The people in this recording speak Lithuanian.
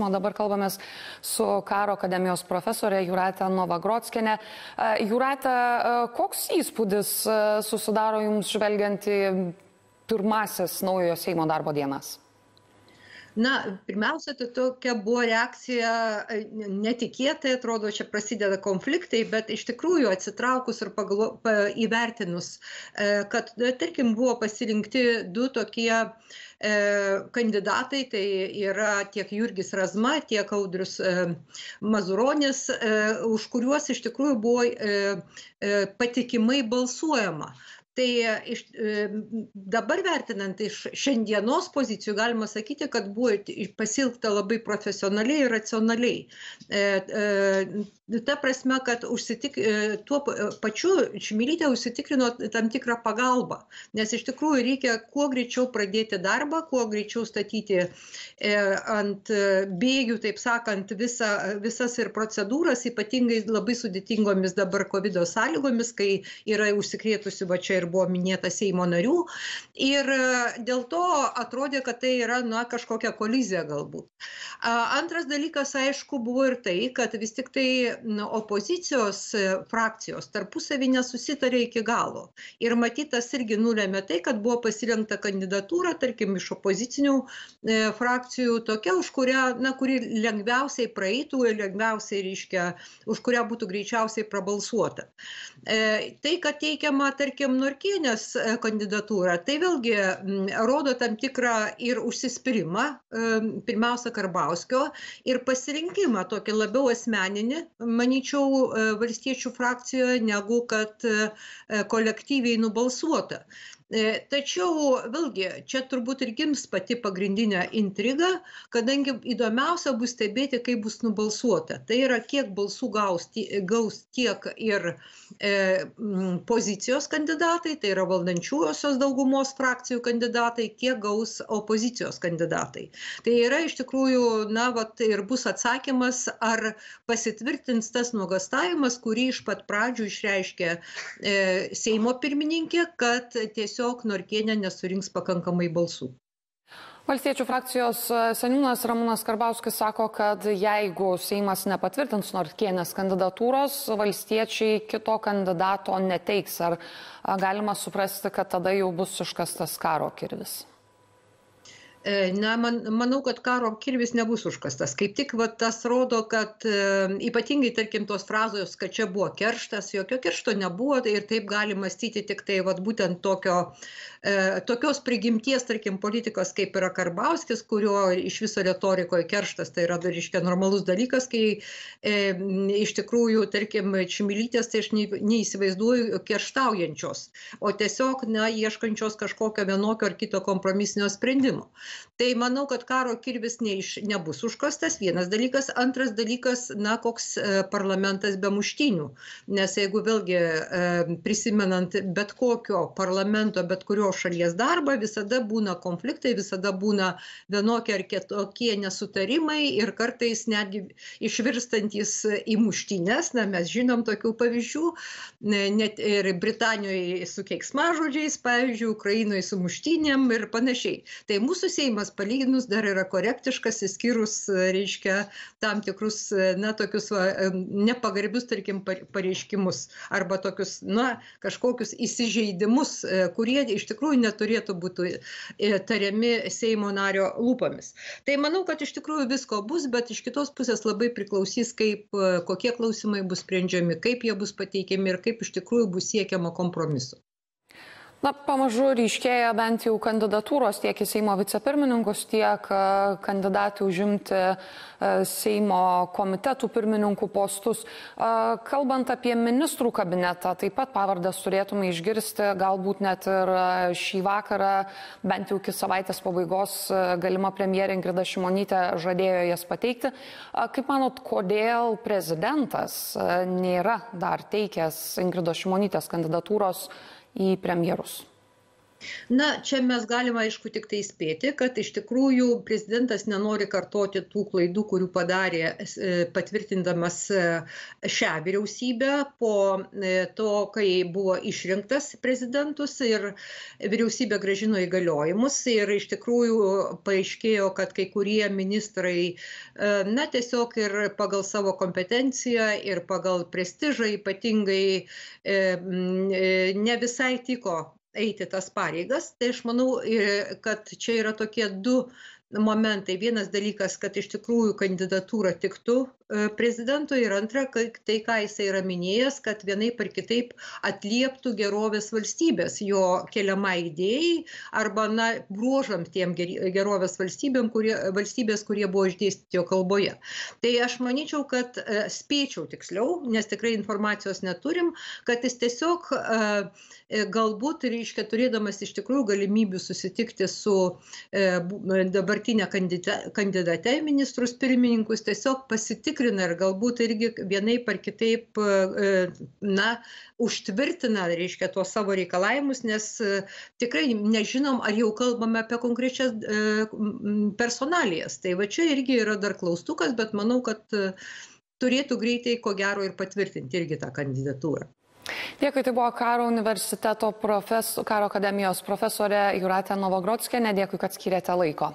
klausimą. Dabar kalbamės su Karo akademijos profesorė Jūrate Novagrockiene. Jūrate, koks įspūdis susidaro jums žvelgiant į pirmasis naujojo Seimo darbo dienas? Na, pirmiausia, tai tokia buvo reakcija netikėtai, atrodo, čia prasideda konfliktai, bet iš tikrųjų atsitraukus ir įvertinus, kad, tarkim, buvo pasirinkti du tokie kandidatai, tai yra tiek Jurgis Razma, tiek Audrius Mazuronis, už kuriuos iš tikrųjų buvo patikimai balsuojama. Tai dabar vertinant iš šiandienos pozicijų galima sakyti, kad buvo pasielgta labai profesionaliai ir racionaliai. Ta prasme, kad tuo pačiu Čmilytė užsitikrino tam tikrą pagalbą, nes iš tikrųjų reikia kuo greičiau pradėti darbą, kuo greičiau statyti ant bėgių, taip sakant, visas ir procedūras, ypatingai labai sudėtingomis dabar COVID sąlygomis, kai yra užsikrėtusi va čia ir buvo minėta Seimo narių. Ir dėl to atrodė, kad tai yra kažkokia kolizija galbūt. Antras dalykas, aišku, buvo ir tai, kad vis tik tai opozicijos frakcijos tarpusavy nesusitarė iki galo. Ir matytas irgi nulėmė tai, kad buvo pasirinkta kandidatūra, tarkim, iš opozicinių frakcijų, tokia, už kurią, kuri lengviausiai praeitų ir lengviausiai, reiškia, už kurią būtų greičiausiai prabalsuota. Tai, kad teikiama, tarkim, Norkienės kandidatūra, tai vėlgi rodo tam tikrą ir užsispyrimą, pirmiausia, Karbauskio, ir pasirinkimą tokį labiau asmeninį, manyčiau, valstiečių frakcijoje, negu kad kolektyviai nubalsuota. Tačiau vėlgi čia turbūt ir gims pati pagrindinė intriga, kadangi įdomiausia bus stebėti, kaip bus nubalsuota. Tai yra, kiek balsų gaus tiek ir pozicijos kandidatai, tai yra valdančiųjosios daugumos frakcijų kandidatai, kiek gaus opozicijos kandidatai. Tai yra iš tikrųjų, ir bus atsakymas, ar pasitvirtins tas nuogąstavimas, kurį iš pat pradžių išreiškė Seimo pirmininkė, kad tiesiog Norkienė nesurinks pakankamai balsų. Valstiečių frakcijos seniūnas Ramūnas Karbauskis sako, kad jeigu Seimas nepatvirtins Norkienės kandidatūros, valstiečiai kito kandidato neteiks. Ar galima suprasti, kad tada jau bus iškastas karo kirvis? Manau, kad karo kirvis nebus užkastas. Kaip tik tas rodo, kad ypatingai, tarkim, tos frazos, kad čia buvo kerštas, jokio keršto nebuvo, ir taip gali mąstyti tik tai būtent tokios prigimties, tarkim, politikos, kaip yra Karbauskis, kurio iš viso retorikoje kerštas tai yra, reiškia, normalus dalykas, kai iš tikrųjų, tarkim, Čmilytės, tai aš neįsivaizduoju kerštaujančios, o tiesiog, ieškančios kažkokio vienokio ar kito kompromisinio sprendimo. Tai manau, kad karo kirvis nebus užkastas, vienas dalykas. Antras dalykas, koks parlamentas be muštynių. Nes jeigu vėlgi prisimenant bet kokio parlamento, bet kurio šalies darbą, visada būna konfliktai, visada būna vienokie ar kitokie nesutarimai ir kartais netgi išvirstantis į muštynės. Mes žinom tokių pavyzdžių, net ir Britanijoje su keiksmažodžiais, pavyzdžiui, Ukrainoje su muštynėm ir panašiai. Tai mūsų Seimas palyginus dar yra korektiškas, įskyrus, reiškia, tam tikrus, tokius nepagarbius, tarkim, pareiškimus arba tokius, kažkokius įsižeidimus, kurie iš tikrųjų neturėtų būti tariami Seimo nario lūpomis. Tai manau, kad iš tikrųjų visko bus, bet iš kitos pusės labai priklausys, kokie klausimai bus sprendžiami, kaip jie bus pateikiami ir kaip iš tikrųjų bus siekiama kompromisu. Pamažu ryškėja bent jau kandidatūros tiek į Seimo vicepirmininkus, tiek kandidatų užimti Seimo komitetų pirmininkų postus. Kalbant apie ministrų kabinetą, taip pat pavardes turėtume išgirsti, galbūt net ir šį vakarą, bent jau iki savaitės pabaigos, galima premjerė Ingrida Šimonytė žadėjo jas pateikti. Kaip manot, kodėl prezidentas nėra dar teikęs Ingridos Šimonytės kandidatūros į premjerus? Na, čia mes galime, aišku, tik tai spėti, kad iš tikrųjų prezidentas nenori kartoti tų klaidų, kurių padarė patvirtindamas šią vyriausybę po to, kai buvo išrinktas prezidentus ir vyriausybė grąžino įgaliojimus. Ir iš tikrųjų paaiškėjo, kad kai kurie ministrai, na, tiesiog ir pagal savo kompetenciją ir pagal prestižą ypatingai ne visai tiko eiti tas pareigas. Tai aš manau, kad čia yra tokie du momentai. Vienas dalykas, kad iš tikrųjų kandidatūra tiktų prezidento ir antra, tai, ką jisai yra minėjęs, kad vienaip ar kitaip atlieptų gerovės valstybės jo keliamai idėjai arba, na, bruožam tiem gerovės valstybės, kurie buvo išdėstyti jo kalboje. Tai aš manyčiau, kad spėčiau tiksliau, nes tikrai informacijos neturim, kad jis tiesiog galbūt, reiškia, turėdamas iš tikrųjų galimybių susitikti su dabartinė kandidate į ministrus pirmininkus, tiesiog pasitikrina ir galbūt irgi vienaip ar kitaip, na, užtvirtina, reiškia, tuos savo reikalavimus, nes tikrai nežinom, ar jau kalbame apie konkrečias personalijas. Tai va čia irgi yra dar klaustukas, bet manau, kad turėtų greitai, ko gero, ir patvirtinti irgi tą kandidatūrą. Dėkui, tai buvo Karo universiteto Karo akademijos profesorė Jūratė Novagrockienė. Dėkui, kad skyrėte laiko.